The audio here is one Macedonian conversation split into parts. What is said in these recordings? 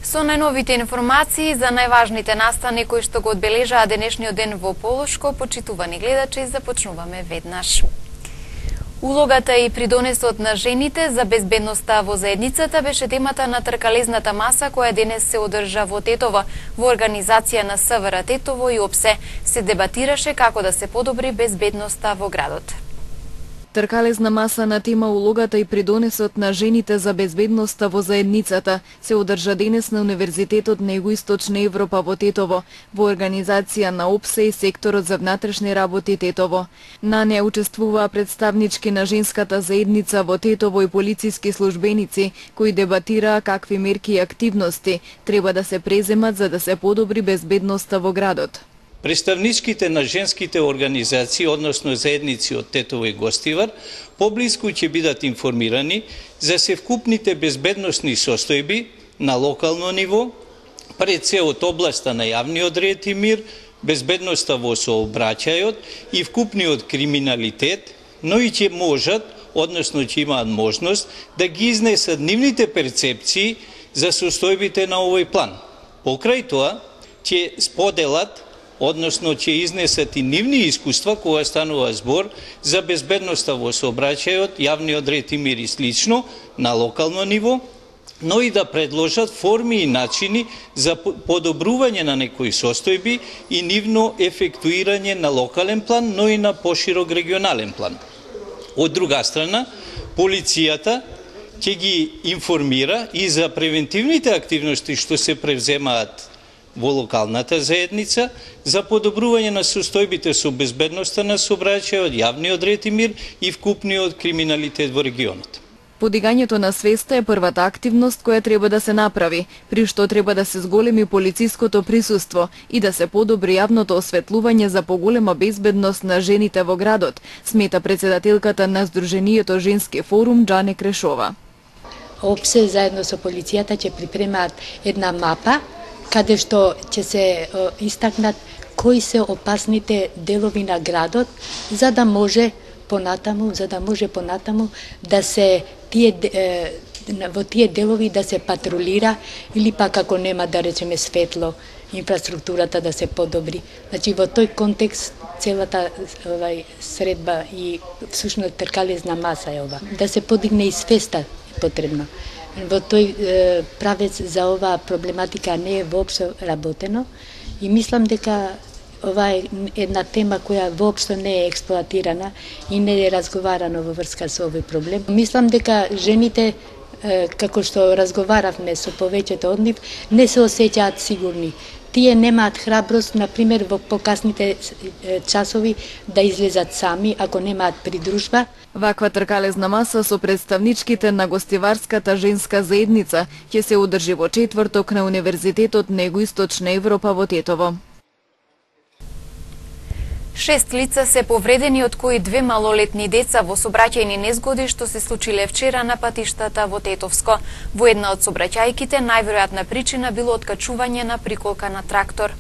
Со најновите информации за најважните настани кои што го одбележаа денешниот ден во Полошко, почитувани гледачи, започнуваме веднаш. Улогата и придонесот на жените за безбедноста во заедницата беше темата на тркалезната маса која денес се одржа во Тетово. Во организација на СВР Тетово и ОПСЕ се дебатираше како да се подобри безбедноста во градот. Тркалезна маса на тема улогата и придонесот на жените за безбедноста во заедницата се одржа денес на Универзитетот на Југоисточна Европа во Тетово, во организација на ОПСЕ и секторот за внатрешни работи Тетово. На неа учествуваа представнички на женската заедница во Тетово и полициски службеници, кои дебатираа какви мерки и активности треба да се преземат за да се подобри безбедноста во градот. Представничките на женските организации, односно заедници од Тетово и Гостивар, поблиску ќе бидат информирани за севкупните безбедносни состојби на локално ниво, пред се од областа на јавниот ред и мир, безбедноста во сообраќајот и вкупниот криминалитет, но и ќе можат, односно ќе имаат можност да ги изнесат нивните перцепции за состојбите на овој план. Покрај тоа ќе споделат, односно ќе изнесат и нивни искуства кога станува збор за безбедноста во сообраќајот, јавниот ред и мир и слично на локално ниво, но и да предложат форми и начини за подобрување на некои состојби и нивно ефектуирање на локален план, но и на поширок регионален план. Од друга страна, полицијата ќе ги информира и за превентивните активности што се превземаат во локалната заедница за подобрување на состојбите со безбедноста на сообраќајот, јавниот ред и мир и вкупниот криминалитет во регионот. Подигањето на свеста е првата активност која треба да се направи, при што треба да се зголеми полициското присуство и да се подобри јавното осветлување за поголема безбедност на жените во градот, смета председателката на Сдруженијето Женски форум Џане Крешова. ОПСЕ заедно со полицијата ќе припремаат една мапа каде што ќе се истакнат кои се опасните делови на градот, за да може понатаму да се во тие делови да се патрулира или пак ако нема да речеме светло, инфраструктурата да се подобри. Значи во тој контекст целата средба и всушност тркалезна маса е ова. Да се подигне и свеста е потребно. Во тој правец за оваа проблематика не е воопшто работено и мислам дека ова е една тема која воопшто не е експлоатирана и не е разговарано во врска со овој проблем. Мислам дека жените, како што разговаравме со повеќето од нив, не се осеќаат сигурни. Тие немаат храброст, например, во покасните часови да излезат сами, ако немаат придружба. Ваква тркалезна маса со представничките на Гостиварската женска заедница ќе се одржи во четврток на Универзитетот на Југоисточна Европа во Тетово. 6 лица се повредени, од кои 2 малолетни деца во сообраќајни незгоди што се случиле вчера на патиштата во Тетовско. Во една од сообраќајките најверојатна причина било откачување на приколка на трактор.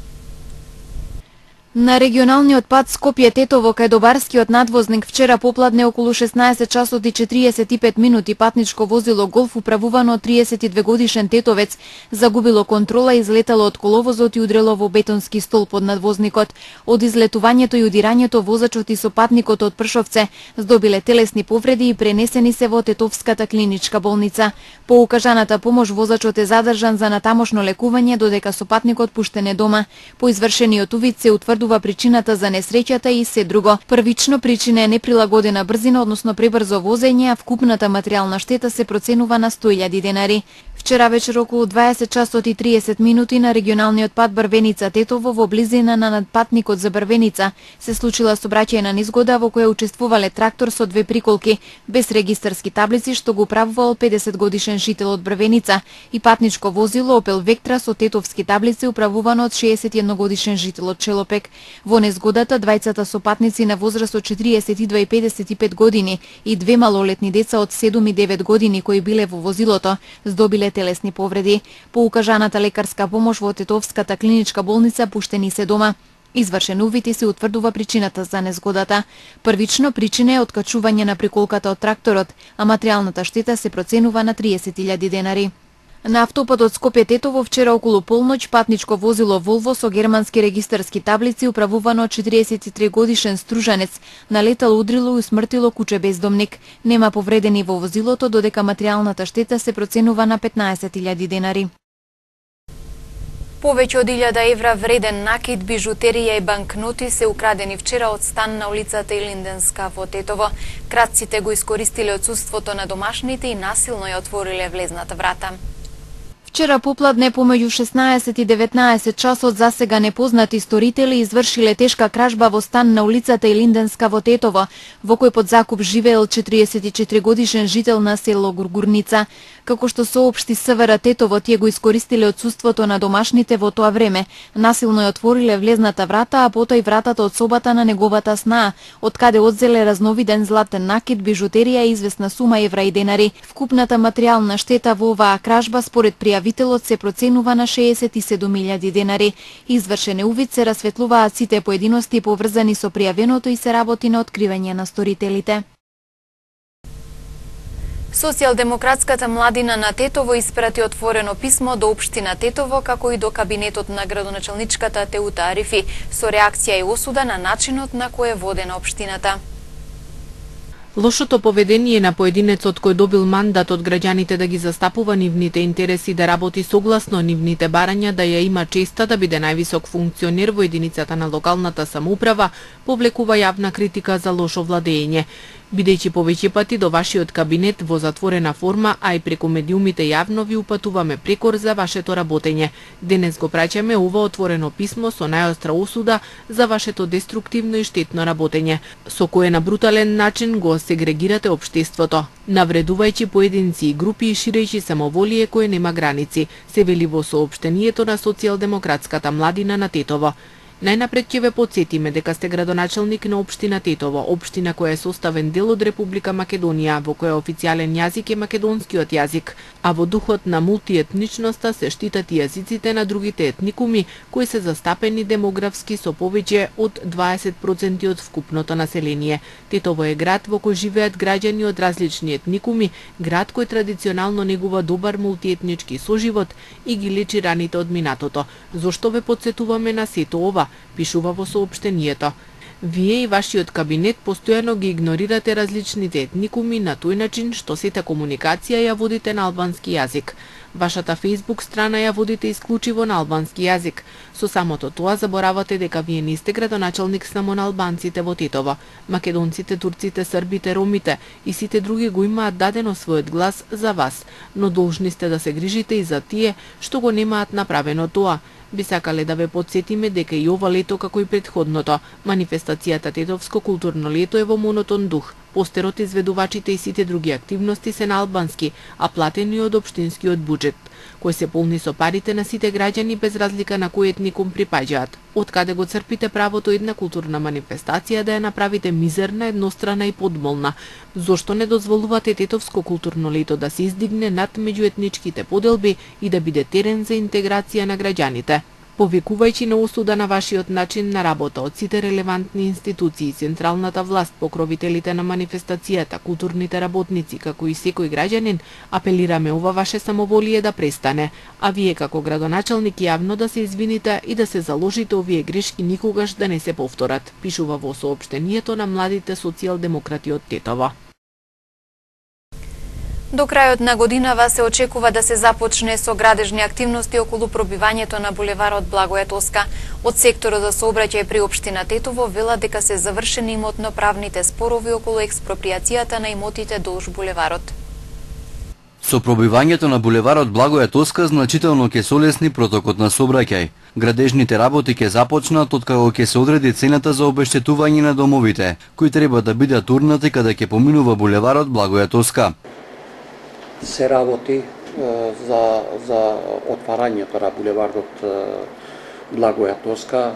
На регионалниот пат Скопје-Тетово кај Добарскиот надвозник вчера попладне околу 16 часот и 45 минути патничко возило Голф управувано од 32 годишен тетовец загубило контрола и излетало од коловозот и удрело во бетонски столб од надвозникот. Од излетувањето и удирањето возачот и сопатникот од Пршовце здобиле телесни повреди и пренесени се во Тетовската клиничка болница. По укажаната помош возачот е задржан за натамошно лекување додека сопатникот пуштен е дома. По извршениот увид се утврдува причината за несреќата и се друго. Првично причина е неприлагодена брзина, односно пребрзо возење, а вкупната материјална штета се проценува на 100.000 денари. Вчера вечер околу 20 часот и 30 минути на регионалниот пат Брвеница-Тетово во близина на надпатникот за Брвеница се случила сообраќајна незгода во која учествувале трактор со 2 приколки без регистарски таблици што го управувал 50 годишен жител од Брвеница и патничко возило Опел Вектра со тетовски таблици управувано од 61 годишен жител од Челопек. Во незгодата двајцата сопатници на возраст од 42 и 55 години и 2 малолетни деца од 7 и 9 години кои биле во возилото здобиле телесни повреди. По укажаната лекарска помош во Тетовската клиничка болница пуштени се дома. Извршен увид и се утврдува причината за незгодата. Првично причина е откачување на приколката од тракторот, а материјалната штета се проценува на 30.000 денари. На автопатот Скопје-Тетово вчера околу полноќ патничко возило Волво со германски регистарски таблици управувано од 43 годишен стружанец налетало, удрило и усмртило куче бездомник. Нема повредени во возилото, додека материјалната штета се проценува на 15.000 денари. Повеќе од 1000 евра вреден накид, бижутерија и банкноти се украдени вчера од стан на улицата Илинденска во Тетово. Кратците го искористиле отсуството на домашните и насилно ја отвориле влезната врата. Вчера попладне помеѓу 16 и 19 часот засега непознати сторители извршиле тешка кражба во стан на улицата Илинденска во Тетово, во кој под закуп живеел 44 годишен жител на село Гургурница. Како што соопшти СВР Тетово, тие го искористиле отсуството на домашните во тоа време. Насилно ја отвориле влезната врата, а потоа и вратата од собата на неговата снаа, од каде одзеле разновиден златен накид, бижутерија и известна сума евра и денари. Вкупната материјална штета во оваа кражба според пријавителот се проценува на 67.000 денари. Извршен е увид, се расветлуваат сите поединости поврзани со пријавеното и се работи на откривање на сторителите. Социјалдемократската младина на Тетово испрати отворено писмо до општина Тетово, како и до кабинетот на градоначалничката Теута Арифи, со реакција и осуда на начинот на кој е водена општината. Лошото поведение на поединецот кој добил мандат од граѓаните да ги застапува нивните интереси, да работи согласно нивните барања, да ја има честа да биде највисок функционер во единицата на локалната самоуправа, повлекува јавна критика за лошо владење. Бидејќи повеќе пати до вашиот кабинет во затворена форма, а и преку медиумите јавно ви упатуваме прекор за вашето работење. Денес го праќаме ова отворено писмо со најостра осуда за вашето деструктивно и штетно работење, со кое на брутален начин го сегрегирате општеството, навредувајќи поединци и групи и ширејќи самоволие кое нема граници, се вели во соопштението на Социјалдемократската младина на Тетово. Најнапред ќе ве потсетиме дека сте градоначалник на општина Тетово, општина која е составен дел од Република Македонија, во која официјален јазик е македонскиот јазик, а во духот на мултиетничноста се штитат и јазиците на другите етникуми кои се застапени демографски со повеќе од 20% од вкупното население. Тетово е град во кој живеат граѓани од различни етникуми, град кој традиционално негува добар мултиетнички соживот и ги лечи раните од минатото. Зошто ве потсетуваме на сето ова? Пишува во соопштението. Вие и вашиот кабинет постојано ги игнорирате различните етникуми на тој начин што сета комуникација ја водите на албански јазик. Вашата Facebook страна ја водите исклучиво на албански јазик. Со самото тоа заборавате дека вие не сте градоначалник само на албанците во Тетово. Македонците, турците, србите, ромите и сите други го имаат дадено својот глас за вас, но должни сте да се грижите и за тие што го немаат направено тоа. Би сакале да ве потсетиме дека и ова лето, како и претходното, манифестацијата Тетовско културно лето е во монотон дух. Постерот, изведувачите и сите други активности се на албански, а платени од општинскиот буџет, кој се полни со парите на сите граѓани без разлика на кој етникум припаѓаат. Од каде го црпите правото една културна манифестација да ја направите мизерна, еднострана и подмолна? Зошто не дозволувате Тетовско културно лето да се издигне над меѓуетничките поделби и да биде терен за интеграција на граѓаните? Повикувајќи на осуда на вашиот начин на работа од сите релевантни институции, централната власт, покровителите на манифестацијата, културните работници, како и секој граѓанин, апелираме ова ваше самоволие да престане, а вие како градоначалник јавно да се извините и да се заложите овие грешки никогаш да не се повторат, пишува во соопштението на младите социјалдемократи од Тетово. До крајот на годинава се очекува да се започне со градежни активности околу пробивањето на булеварот Благоја Тоска. Од секторот за сообраќај при општина Тетово вела дека се завршени имотно-правните спорови околу експроприацијата на имотите долж булеварот. Со пробивањето на булеварот Благоја Тоска значително ќе се олесни протокот на сообраќај. Градежните работи ќе започнат откако ќе се одреди цената за обештетување на домовите, кои треба да бидат урнати каде ќе поминува булеварот Благоја Тоска. Се работи за отварањето на булеварот Благоја Тоска,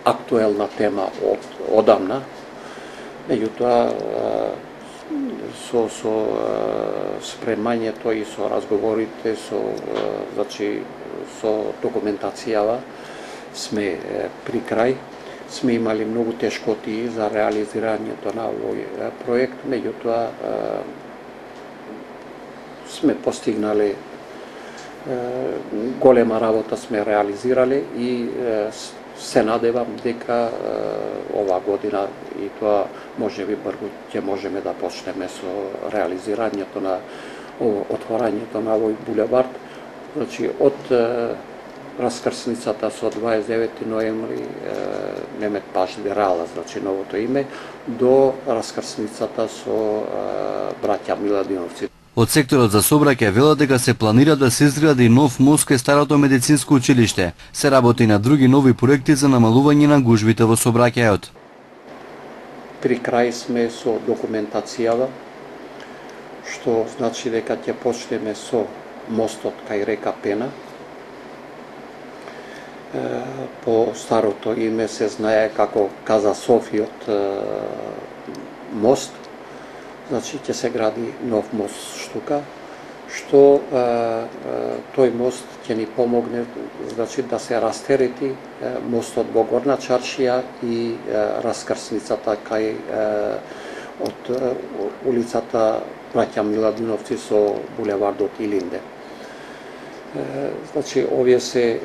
актуелна тема од одамна. Меѓутоа, со спремањето и со разговорите, со документацијава сме при крај. Сме имали многу тешкоти за реализирањето на овој проект, меѓутоа сме постигнали Голема работа сме реализирале и се надевам дека оваа година и тоа можеби брзо ќе можеме да почнеме со реализирањето на отворањето на овој булевард. Значи од раскрсницата со 29 ноември Немет Паш Дерала, значи новото име, до раскрсницата со браќа Миладиновци. Од секторот за сообраќај велат дека се планира да се изгради нов мост кај старото медицинско училиште. Се работи на други нови проекти за намалување на гужвите во сообраќајот. При крај сме со документацијава, што значи дека ќе почнеме со мостот кај река Пена. По старото име се знае како Каза Софиот мост. Значи ќе се гради нов мост штука, што тој мост ќе ни помогне, значи да се растерети мостот во Горна Чаршија и раскрсницата кај од улицата браќа Миладиновци со булевардот Илинде. Значи овие се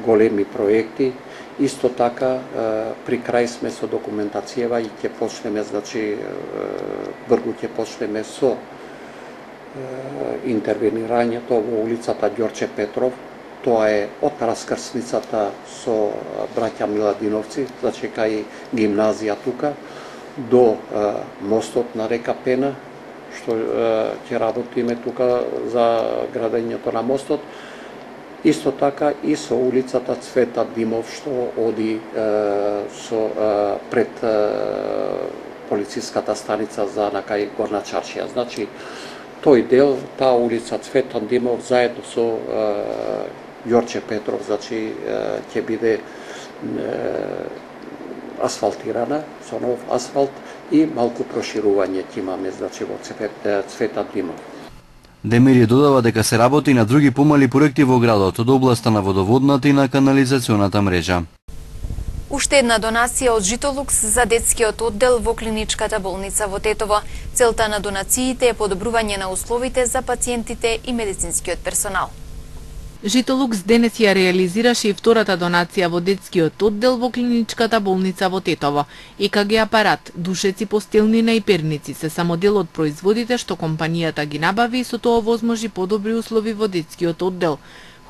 големи проекти. Исто така, при крај сме со документацијава и ќе почнеме, значи, брзо ќе почнеме со интервенирањето во улицата Ѓорче Петров. Тоа е од раскрсницата со браќа Миладиновци, значи кај гимназија тука, до мостот на река Пена, што ќе работиме тука за градењето на мостот. Исто така и со улицата Цвета Димов, што оди пред полициската станица за накај Горна Чаршија. Значи, тој дел, таа улица Цвета Димов, заедно со Ѓорче Петров, значи, ќе биде асфалтирана, со нов асфалт и малку проширување ќе имаме, значи, во Цвета Димов. Демири додава дека се работи на други помали проекти во градот од областа на водоводната и на канализационата мрежа. Уште една донација од Житолукс за детскиот оддел во клиничката болница во Тетово. Целта на донациите е подобрување на условите за пациентите и медицинскиот персонал. Житолукс денес ја реализираше и втората донација во детскиот оддел во клиничката болница во Тетово. ЕКГ апарат, душеци, постелнина и перници се само дел од производите што компанијата ги набави и со тоа возможи подобри услови во детскиот оддел.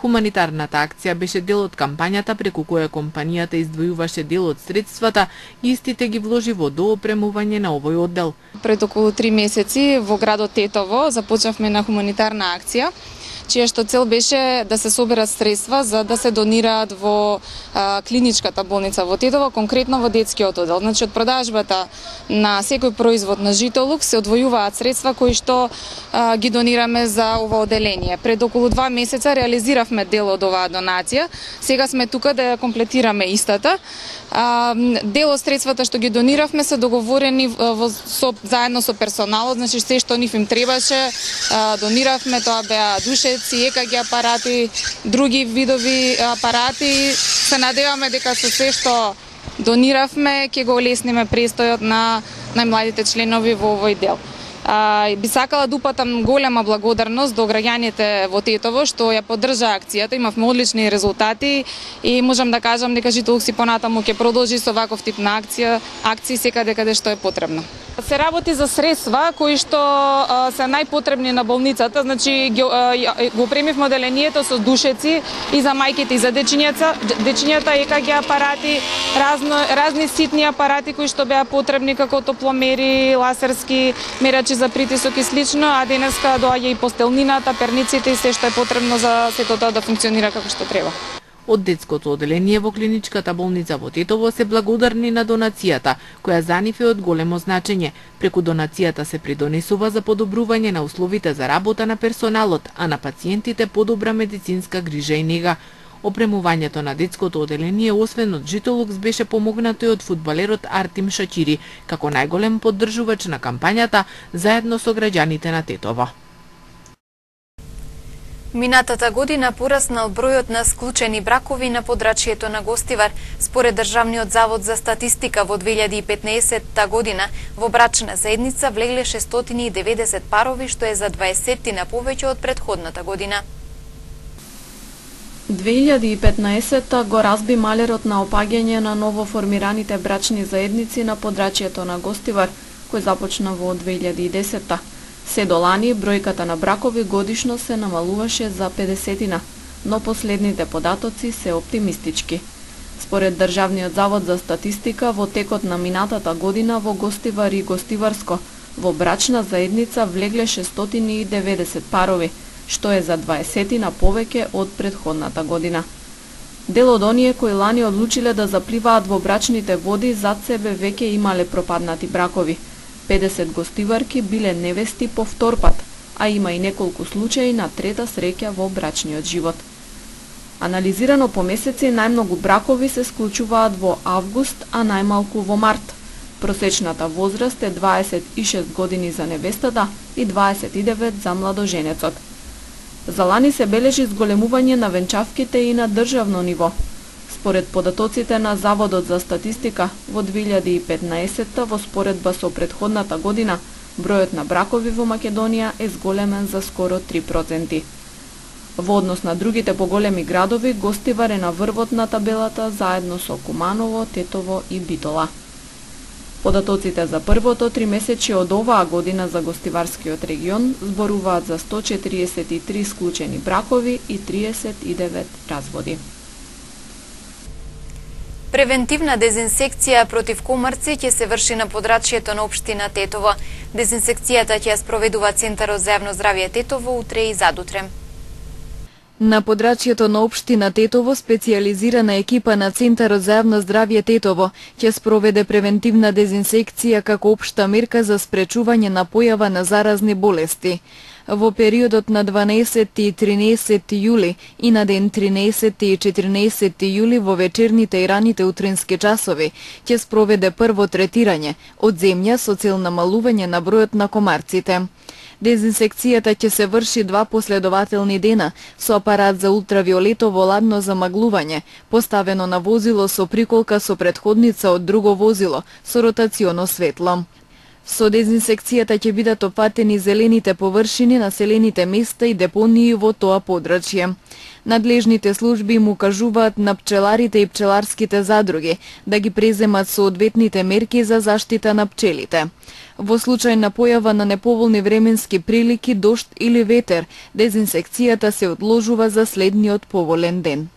Хуманитарната акција беше дел од кампањата преку која компанијата издвојуваше дел од средствата и истите ги вложи во доопремување на овој оддел. Пред околу 3 месеци во градот Тетово започнавме на хуманитарна акција, чија што цел беше да се соберат средства за да се донираат во клиничката болница во Тетово, конкретно во детскиот оддел. Значи, од продажбата на секој производ на Житолукс се одвојуваат средства кои што ги донираме за ова одделение. Пред околу 2 месеца реализиравме дел од оваа донација. Сега сме тука да ја комплетираме истата. Дел од средствата што ги дониравме се договорени заедно со персоналот, значи се што нив им требаше, дониравме, тоа беа душеци, ЕКГ апарати, други видови апарати. Се надеваме дека со се што дониравме ќе го олесниме престојот на најмладите членови во овој дел. Би сакала да упатам голема благодарност до граѓаните во Тетово што ја поддржа акцијата, имавме одлични резултати и можам да кажам дека Житолукс и понатаму ќе продолжи со ваков тип на акции секаде каде што е потребно. Се работи за средства кои што се најпотребни на болницата, значи го премивме одделението со душеци и за мајките и за дечињата, ЕКГ апарати, разни ситни апарати кои што беа потребни како топломери, ласерски мерачи за притисок и слично, а денеска доаѓа и постелнината, перниците и се што е потребно за сето тоа да функционира како што треба. Од детското одделение во клиничката болница во Тетово се благодарни на донацијата, која за нив е од големо значење. Преку донацијата се придонесува за подобрување на условите за работа на персоналот, а на пациентите подобра медицинска грижа и нега. Опремувањето на детското одделение освен од Житолукс беше помогнато и од фудбалерот Артим Шачири, како најголем поддржувач на кампањата заедно со граѓаните на Тетово. Минатата година пораснал бројот на склучени бракови на подрачјето на Гостивар. Според Државниот завод за статистика во 2015 година во брачна заедница влегле 690 парови, што е за 20 на повеќе од претходната година. 2015 го разби малерот на опаѓање на новоформираните брачни заедници на подрачјето на Гостивар, кој започна во 2010-та. Се до лани бројката на бракови годишно се намалуваше за 50-тина, но последните податоци се оптимистички. Според Државниот завод за статистика, во текот на минатата година во Гостивар и Гостиварско во брачна заедница влегле 690 парови, што е за 20 повеќе од претходната година. Дел од оние кои лани одлучиле да запливаат во брачните води зад себе веќе имале пропаднати бракови. 50 гостиварки биле невести по втор пат, а има и неколку случаи на трета среќа во брачниот живот. Анализирано по месеци, најмногу бракови се склучуваат во август, а најмалку во март. Просечната возраст е 26 години за невестата и 29 за младоженецот. За лани се бележи зголемување на венчавките и на државно ниво. Според податоците на Заводот за статистика, во 2015 во споредба со претходната година, бројот на бракови во Македонија е зголемен за скоро 3%. Во однос на другите поголеми градови, Гостивар е на врвот на табелата заедно со Куманово, Тетово и Битола. Податоците за првото тримесечје од оваа година за Гостиварскиот регион зборуваат за 143 склучени бракови и 39 разводи. Превентивна дезинсекција против комарци ќе се врши на подрачјето на општина Тетово. Дезинсекцијата ќе ја спроведува Центарот за јавно здравје Тетово утре и задутре. На подрачјето на општина Тетово, специјализирана екипа на Центарот за јавно здравје Тетово ќе спроведе превентивна дезинсекција како општа мерка за спречување на појава на заразни болести. Во периодот на 12 и 13 јули и на ден 13 и 14 јули во вечерните и раните утрински часови ќе спроведе прво третирање од земја со цел намалување на бројот на комарците. Дезинсекцијата ќе се врши 2 последователни дена со апарат за ултравиолетово ладно замаглување, поставено на возило со приколка со претходница од друго возило со ротационо светло. Со дезинсекцијата ќе бидат опатени зелените површини, населените места и депонии во тоа подрачје. Надлежните служби му кажуваат на пчеларите и пчеларските задруги да ги преземат соодветните мерки за заштита на пчелите. Во случај на појава на неповолни временски прилики, дожд или ветер, дезинсекцијата се одложува за следниот поволен ден.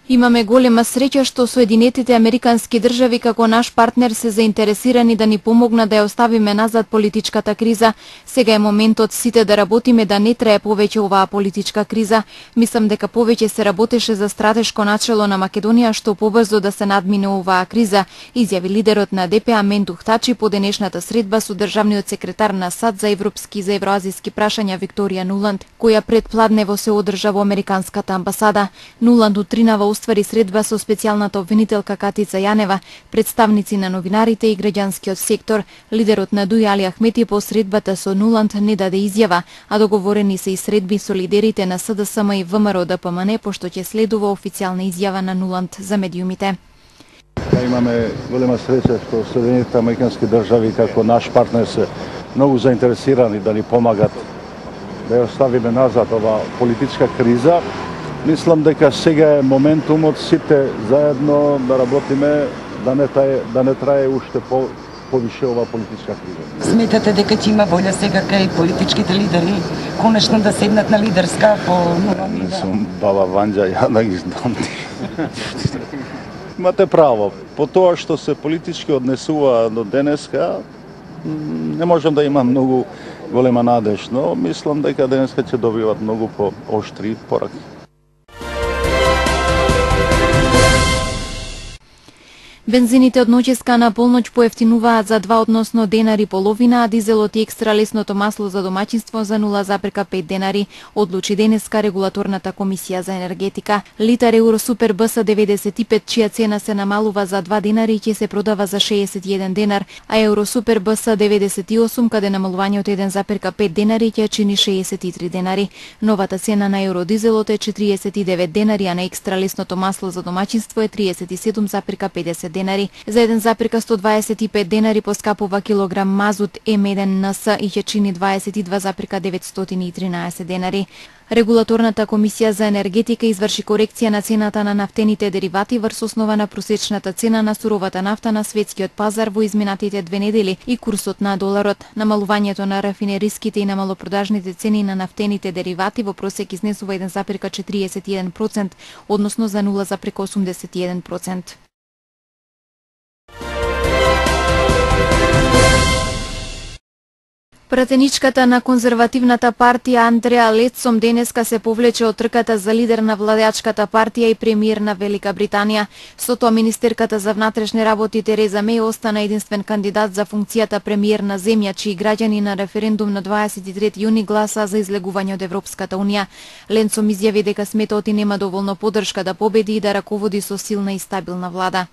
Имаме голема среќа што Соединетите Американски држави како наш партнер се заинтересирани да ни помогнат да ја оставиме назад политичката криза. Сега е моментот сите да работиме да не трае повеќе оваа политичка криза. Мислам дека повеќе се работеше за стратешко начело на Македонија што побрзо да се надмине оваа криза, изјави лидерот на ДПА Мендух Тачи по денешната средба со државниот секретар на САД за европски и за евроазиски прашања Викторија Нуланд, која пред пладнево се одржа во Американската амбасада. Нуланд утринава уствари средба со специјалната обвинителка Катица Јанева, представници на новинарите и граѓанскиот сектор. Лидерот на ДУИ Али Ахмети по средбата со Нуланд не даде изјава, а договорени се и средби со лидерите на СДСМ и ВМРО ДПМН, пошто ќе следува официјална изјава на Нуланд за медиумите. Имаме голема среќа што Соединетите Американски држави како наш партнер се многу заинтересирани да ни помагат да ја оставиме назад оваа политичка криза. Мислам дека сега е моментумот сите заедно да работиме да не трае уште повише оваа политичка криза. Сметате дека ќе има волја сега кај политичките лидери конечно да седнат на лидерска по нова ниво? Мислам, баба Ванџа, ја да ги знам. Имате право, по тоа што се политички однесува до денеска, не можам да имам многу голема надеж, но мислам дека денеска ќе добиват многу по-оштри пораки. Бензините од ноќеска на полноќ поевтинуваат за 2, односно денари половина, а дизелот и екстра лесното масло за домаќинство за 0,5 денари, одлучи денеска регулаторната комисија за енергетика. Литар Евросупер БС 95, чија цена се намалува за 2 денари, ќе се продава за 61 денар, а Евросупер БС 98, каде намалување од 1,5 денари ќе чини 63 денари. Новата цена на евродизелот е 49 денари, а на екстра лесното масло за домаќинство е 37,50 денари. За 1,125 денари поскапува килограм мазут М1НС и ќе чини 22,913 денари. Регулаторната комисија за енергетика изврши корекција на цената на нафтените деривати врз основа на просечната цена на суровата нафта на светскиот пазар во изминатите 2 недели и курсот на доларот. Намалувањето на рафинериските и на малопродажните цени на нафтените деривати во просек изнесува 1,41%, односно за 0,81%. Пратеничката на конзервативната партија Андреа Летсом денеска се повлече од трката за лидер на владеачката партија и премиер на Велика Британија. Со тоа министерката за внатрешни работи Тереза Меј остана единствен кандидат за функцијата премиер на земја, чии граѓани на референдум на 23 јуни гласа за излегување од Европската унија. Летсом изјави дека сметот и нема доволно поддршка да победи и да раководи со силна и стабилна влада.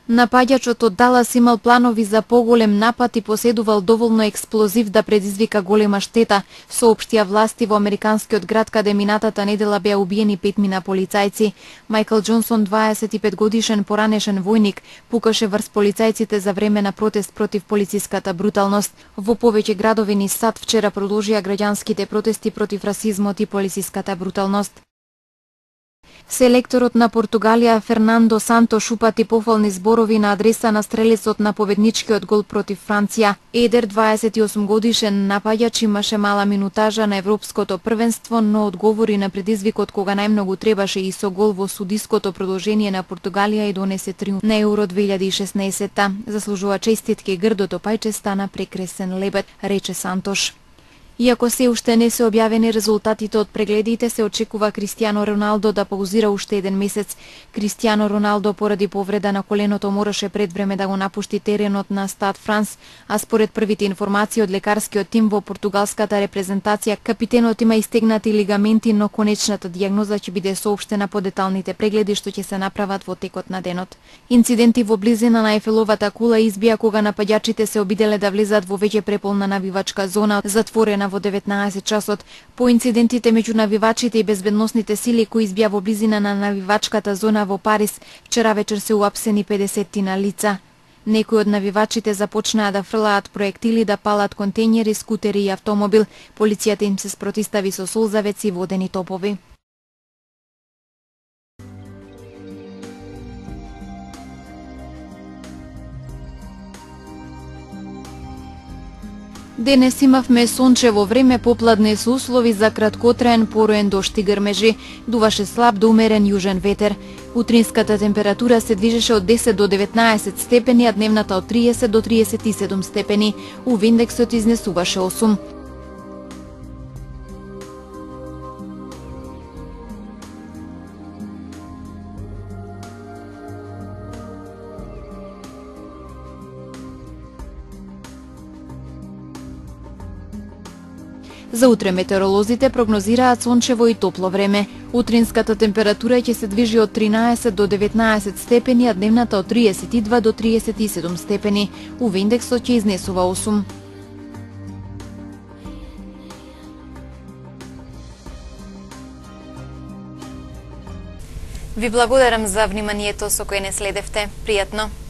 Напаѓачот од Далас имал планови за поголем напад и поседувал доволно експлозив да предизвика голема штета, соопштија власти во американскиот град каде минатата недела беа убиени 5 полицајци. Майкл Џонсон, 25 годишен поранешен војник, пукаше врз полицајците за време на протест против полициската бруталност. Во повеќе градови низ САД вчера продолжија граѓанските протести против расизмот и полициската бруталност. Селекторот на Португалија Фернандо Сантош упати пофални зборови на адреса на стрелецот на победничкиот гол против Франција. Едер, 28 годишен напаѓач, имаше мала минутажа на европското првенство, но одговори на предизвикот кога најмногу требаше и со гол во судиското продолжение на Португалија и донесе триумф на Евро 2016. Заслужува честитки, грдото пајче стана прекресен лебед, рече Сантош. Иако се уште не се објавени резултатите од прегледите, се очекува Кристијано Роналдо да паузира уште 1 месец. Кристијано Роналдо поради повреда на коленото мораше пред време да го напушти теренот на Стад Франс, а според првите информации од лекарскиот тим во португалската репрезентација, капитенот има истегнати лигаменти, но конечната дијагноза ќе биде соопштена по деталните прегледи што ќе се направат во текот на денот. Инциденти во близина на Ефеловата кула избија кога напаѓачите се обиделе да влезат во веќе преполна навивачка зона, затворена во 19 часот. По инцидентите меѓу навивачите и безбедносните сили кои избија во близина на навивачката зона во Париз, вчера вечер се уапсени 50 лица. Некои од навивачите започнаа да фрлаат проектили, да палат контејнери, скутери и автомобил. Полицијата им се спротистави со солзавеци и водени топови. Денес имавме сончево време, попладне со услови за краткотраен пороен дожд и грмежи. Дуваше слаб до умерен јужен ветер. Утринската температура се движеше од 10 до 19 степени, а дневната од 30 до 37 степени. УВ-индексот изнесуваше 8. За утре метеоролозите прогнозираат сончево и топло време. Утринската температура ќе се движи од 13 до 19 степени, а дневната од 32 до 37 степени. УВ-индексот ќе изнесува 8. Ви благодарам за вниманието со кое не следевте. Пријатно!